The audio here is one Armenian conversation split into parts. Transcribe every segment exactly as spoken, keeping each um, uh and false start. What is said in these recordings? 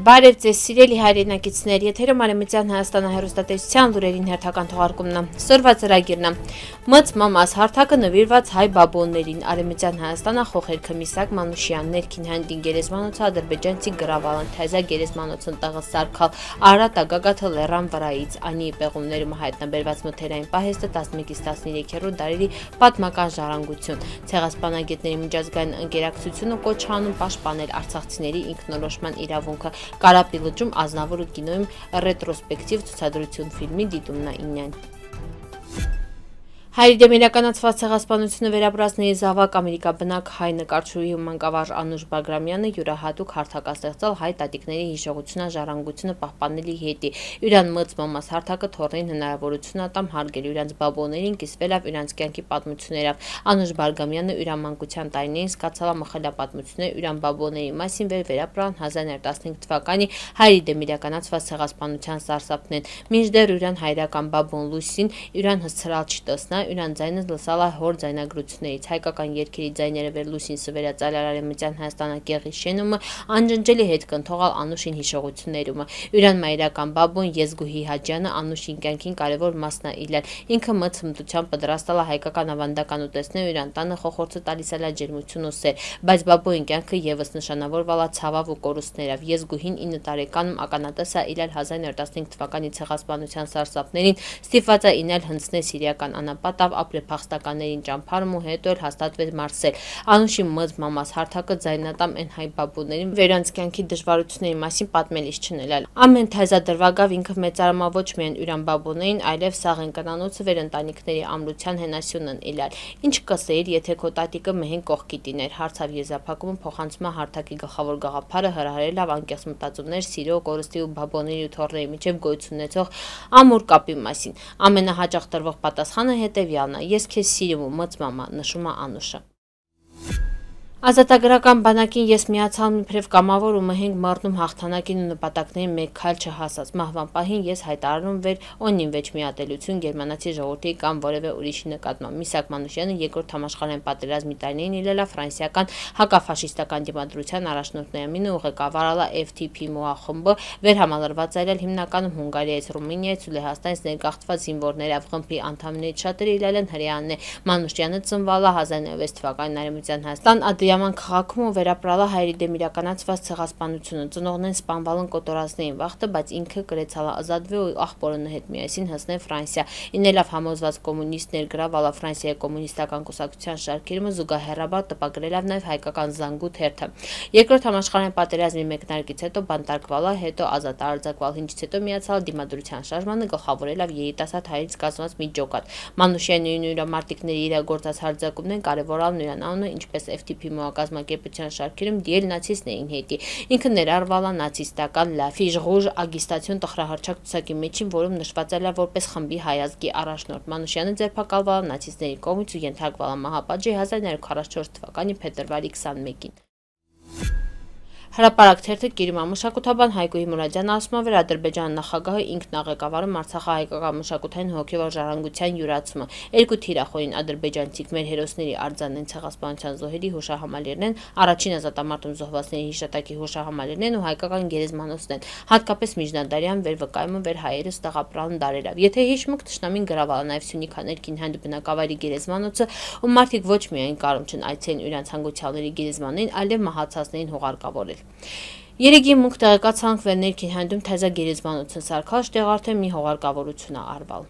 Բարև ձեզ սիրելի հայրենակիցներ, եթերում Արևմտյան Հայաստանը հեռուստատեսության լուրերին հերթական թողարկումն է։ Սորվա ծրագիրն է։ Մծ մամաս հարթակը նվիրված հայ բաբոններին։ Արևմտյան Հայաստանը խոխերքը Միսակ Մանուշյան, ներքին հանդին գերեզմանոցը ադրբեջանցի գրավալն, թայզա գերեզմանոցն տղը սարքալ, Արատա գագաթը լեռան վրայից, անի պեղումներում հայտնաբերված մթերային պահեստը տասնմեկից տասներեքերորդ դարերի պատմական ժառանգություն։ Ցեղասպանագետների միջազգային ընկերակցությունը կոչ անում պաշտպանել արցախցիների ինքնորոշման իրավունքը։ Կարապի լճում Ազնավուրը կինոյում ռետրոսպեկտիվ ցուցադրություն ֆիլմի դիտումն է ինյան։ Հայերի դեմ իրականացված ցեղասպանությունը վերապրածների զավակ ամերիկաբնակ հայ նկարչուհի ու մանկավարժ Անուշ Բագրամյանը յուրահատուկ հարթակաստեղծել հայ տատիկների հիշողությունը պահպանելի հետի։ Իրան մծ մամաս հարթակը թորնին հնարավորություն ատամ հարգել իրանց բաբոներին, կիսվելով իրանց կյանքի պատմություններով։ Անուշ Բագրամյանը իրան մանկության տարիներին սկացալ մխելապատմություններ իրան բաբոների մասին վեր վերապրան հազար նոր տասնհինգ թվականի հայերի դեմ իրականացված ցեղասպանության սարսափն են։ Մինչդեռ իրան հայրական բաբոն Լուսին իրան հսցրալ չտեսնա Իրան ձայնը լսալ է հոր ձայնագրություններից, հայկական երգերի ձայները վեր Լուսին սվերածալ Արևմտյան Հայաստանակեղի շենումը, անջնջելի հետ կընթողալ Անուշին հիշողություններում։ Իրան մայրական բաբոն Եզգուհի Հաջյանը Անուշին կյանքին կարևոր մասն է իլել։ Ինքը մծ հմտությամբ պատրաստալ է հայկական ավանդական ուտեստներ իրան տանը խոխորձը տալիս է ջերմություն ու սեր, բայց բաբոյին կյանքը եւս նշանավորվալ է ցավով ու կորուստներով։ Եզգուհին ինը տարեկանում ականատես է իլել հազար նոր տասնհինգ թվականի ցեղասպանության սարսափներին, ստիպված է ինել հնձնել սիրիական անապատավ ապրե փախստականներին ճամփարում ու հետո էլ հաստատվեց Մարսել։ Անուշի մծ մամաս հարթակը ձայնատամ են հայ բաբուներին վերանց կյանքի դժվարությունների մասին պատմելիս չնելալ։ Ամեն թայզադրվագավ ինքը մեծարամա ոչ միայն յուրան բաբուներին, այլև սաղեն կնանոցը վեր ընտանիքների ամրության հենասյունն իլալ։ Ինչ կսեիր, եթե քո տատիկը մհեն կողքի տիներ, հարցավ եզրափակումը փոխանցում է հարթակի գլխավոր գաղափարը հրահրելով անկեղծ մտածումներ սիրո, կորստի ու բաբոների ու թորների միջև գոյություն ունեցող ամուր կապի մասին։ Ամենահաճախ տրվող պատասխանը հետևյալն է. Ես քեզ սիրում ու մծ մամա, նշում է Անուշը։ Ազատագրական բանակին ես միացալ իբրև կամավոր ու մհենգ մառնում հաղթանակին ու նպատակներին մեկ քայլ չհասած։ Մահվան պահին ես հայտարարում վեր օնին վեճ միատելություն գերմանացի ժողովրդի կամ որևէ ուրիշի նկատմամբ։ Միսակ Մանուշյանը երկրորդ համաշխարհային պատերազմի տարիներին իլել է ֆրանսիական հակաֆաշիստական դիմադրության առաջնորդներամինը ու ղեկավարել է F T P մոախումբը, վերհամալրված այլել հիմնականում Հունգարիայից, Ռումինիայից ու Լեհաստանից ներգաղթված զինվորներով խմբի անդամներից շատերը իլել են հրեաներ։ Մանուշյանը ծնվել է հազար նոյ վեց թվականին Արևմտյան Հայաստան Ադրիաման քաղաքում ու վերապրալ է հայերի դեմ իրականացված ցեղասպանությունը։ Ծնողներն սպանվալն կոտորածներին վախտը, բայց ինքը կրեցալ է ազատվել ու աղբորոնը հետ միասին հասնել Ֆրանսիա։ Ինելով համոզված կոմունիստ ներգրավալ է Ֆրանսիայի կոմունիստական կուսակցության շարքերում զուգահեռաբար տպագրելով նաև հայկական զանգուտ հերթը։ Երկրորդ համաշխարհային պատերազմի մեկնարկից հետո բանտարկվել է, հետո ազատ արձակվել, ինչից հետո միացալ դիմադրության շարժմանը գլխավորելով երիտասարդ հայերից կազմված մի ջոկատ։ Մանուշյանի ու նրա մարտիկների իրագործած հարձակումներն կարևորալ նրան անունը, ինչպես F T P մոակազմակերպության շարքերում դիել նացիստներին հետի։ Ինքը ներառվել է նացիստական Լաֆիշ Ռուժ ագիստացիոն տխրահռչակ ցուցակի միջին, որում նշվածել է որպես խմբի հայազգի առաջնորդ։ Մանուշյանը ձերբակալվել է նացիստների կողմից ու ենթարկվել է մահապատժի հազար նոյ քառասունչորս թվականի փետրվարի քսանմեկին։ Հրապարակ թերթը կիրում է մշակութաբան Հայկուհի Մուրադյանը ասում է, որ Ադրբեջանի նախագահը ինքն է ղեկավարում արցախահայկական մշակութային հոգևոր ժառանգության յուրացումը։ Երկու թիրախորին ադրբեջանցիք մեր հերոսների արձանեն ցեղասպանության զոհերի հուշահամալիրներն են, առաջին ազատամարտում զոհվածների հիշատակի հուշահամալիրներն են ու հայկական գերեզմանոցն են, հատկապես միջնադարյան վերվկայումը վեր հայերս տեղապրան դարերով։ Եթե հիշում եք, թշնամին գրավել է նաև Սյունիքա ներքին հանդ բնակավայրի գերեզմանոցը, ու մարդիկ ոչ միայն կարում չեն այցելեն իրանց հանգուցյալների գերեզմաններին, այլև մահացածներին հուղարկավորել։ Երեգի մուք տեղեկացանք վեր ներքին հանդում թայզա գերեզմանոցը սարքալ շտեղ արդեն մի հողարկավորություն է արվել։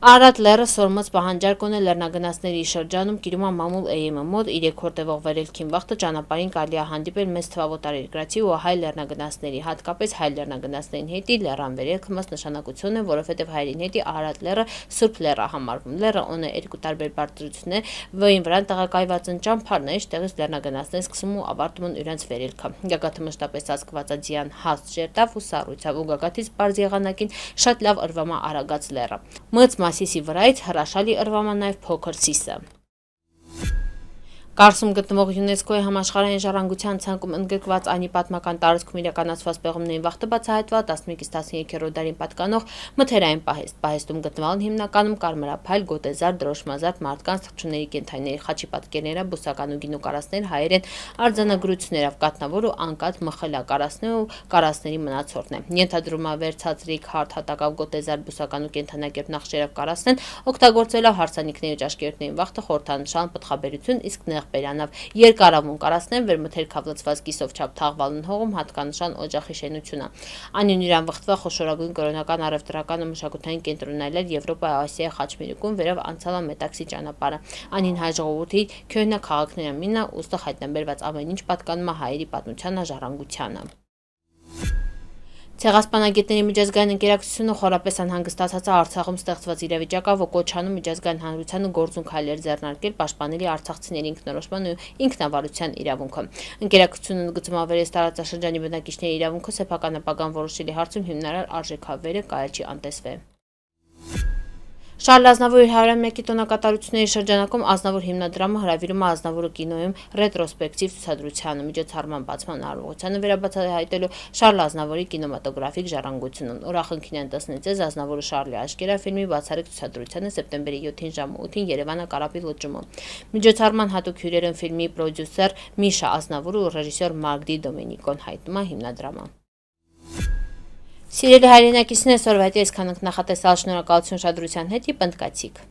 Արադ լեռը սորմած պահանջարկ ունե լեռնագնացների շրջանում կիրում է մամուլ էյեմը մոտ իր երկրորդ տևող վերելքին վաղտը ճանապարհին կարելի է հանդիպել մեծ թվով օտարերկրացի ու հայ լեռնագնացների, հատկապես հայ լեռնագնացներին հետի լեռան վերելքը մեծ նշանակություն է, որովհետև հայերին հետի Արադ լեռը սուրբ լեռ է համարվում։ Լեռը ունի երկու տարբեր բարձրություններ, որին վրան տեղակայված են ճամփարներ, տեղից լեռնագնացներն սկսում ու ավարտում են իրենց վերելքը։ Գագաթը մշտապես ծածկված է ձյան հաստ շերտով ու սառույցով ու գագաթից բարձ եղանակին շատ լավ ըրվում է Արագած լեռը։ Մծ Սիսի վրայից հրաշալի ըրվում է նաև փոքր Սիսը։ Կարսում գտնվող ՅՈՒՆԵՍԿՕ-ի համաշխարհային ժառանգության ցանկում ընդգրկված Անի պատմական տարածքում իրականացված պեղումների վաղտը բացահայտվել տասնմեկից տասներկերորդ դարին պատկանող մթերային պահեստ։ Պահեստում գտնվան հիմնականում կարմրափայլ, գոտեզար, դրոշմազարդ մարդկանց, թռչունների կենդանիների խաչի պատկերները, բուսական ու գինու կարասներ, հայերեն արձանագրություններով կատնավոր ու անկատ մխելակարասներ ու կարասների մնացորդն է։ Ենթադրում է վերցածրիկ հարթ հատակավ գոտեզար բուսական ու կենդանակերպ նախշերով կարասնեն օգտագործելով հարսանիքների ու ճաշկերտների վաղտը խորհրդանշան պտղաբերություն, իսկ նեղ բերանավ երկարավուն կարասնեն վերմթեր քավլացված կիսով չափ թաղվալն հողում հատկանշան օջախի շենությունը։ Անին իրան վխտվա խոշորագույն կրոնական առևտրական ու մշակութային կենտրոնայել Եվրոպայի Ասիայի խաչմերուկում վերև անցալա մետաքսի ճանապարհը։ Անին հայ ժողովրդի քյոյնա քաղաքների ամինա ուստը հայտնաբերված ամեն ինչ պատկանում է հայերի պատմությանը, ժառանգությանը։ Ցեղասպանագետների միջազգային ընկերակցությունը խորապես անհանգստացած է Արցախում ստեղծված իրավիճակով ու կոչանում միջազգային հանրությանը գործուն քայլեր ձեռնարկել պաշտպանելի արցախցիների ինքնորոշման ու ինքնավարության իրավունքը։ Ընկերակցությունը ընդգծում է վերես տարածաշրջանի բնակիչների իրավունքը սեփական ապագան որոշելի հարցում հիմնարար արժեքավերը կարելի չի անտեսվել։ Շարլ Ազնավուրի հարյուրամյակի տոնակատարությունների շրջանակում Ազնավուր հիմնադրամը հրավիրում է Ազնավուրը կինոյում ռետրոսպեկտիվ ցուցադրությանը միջոցառման բացման արարողությանը վերաբացահայտելու Շարլ Ազնավուրի կինեմատոգրաֆիկ ժառանգությունն։ Ուրախնքին են տեսնել ձեզ Ազնավուրը Շարլի աչքերը ֆիլմի բացառիկ ցուցադրությանը սեպտեմբերի յոթին ժամը ութին Երևանը Կարապի լճում։ Միջոցառման հատուկ հյուրեր են ֆիլմի պրոդյուսեր Միշա Ազնավուրը ու ռեժիսոր Մարգդի Դոմենիկոն, հայտնում է հիմնադրամը։ Սիրելի հայրենակիցներ, այսօրվա հետ այսքան ենք, նախատեսալ շնորհակալություն ուշադրության հետ, պնդկացիք։